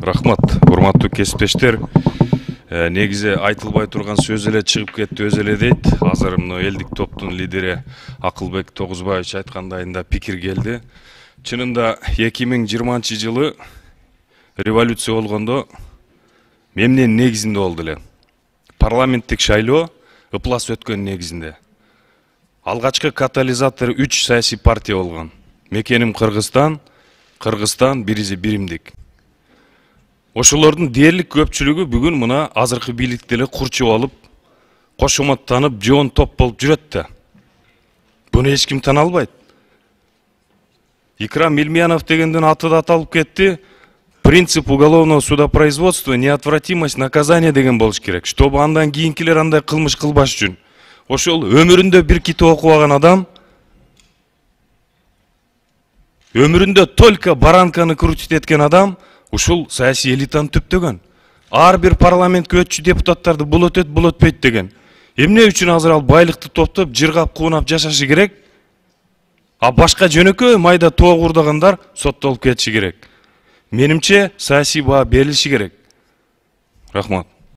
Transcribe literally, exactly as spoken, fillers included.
Рахмат, урматтуу кесиптештер. Негизи айтылбай турган сөз эле чыгып кетти, өз эле дейт. Азыр мына элдик топтун лидери Акылбек Тогузбаевич айткандайында пикир келди. Чынында эки миң жыйырманчы жылы революция болгондо мемнен негизинде болду эле. Парламенттик шайлоо ыплас өткөн негизинде. Алгачкы катализатор үч саясий партия болгон. Мекеним Кыргызстан, Кыргызстан биризи биримдик. Ошолордун дээрлик көпчүлүгү бүгүн мына азыркы бийликти эле курчуп алып, кошоматтанып, жоон топ болуп жүрөт да. Буну эч ким тана албайт. Икрам Илмиянов дегендин аты да аталып кетти. Принцип уголовного судопроизводства неотвратимость наказания деген болуш керек. Чтобы андан кийинкилер андай кылмыш кылбаш үчүн. Ошол өмүрүндө бир китеп окубаган адам, өмүрүндө только баранканы крутить эткен адам ушул саясий элитаны түптөгөн. Ар бир парламентке өтчү депутаттарды бул өтөт, бул өтпөйт деген. Эмне үчүн азыр ал байлыкты топтоп, жыргап, куунап жашашы керек? А башка жөнөкөй майда тоо курдагандар соттолуп кетиши керек. Менимче саясий баа берилиши керек. Рахмат.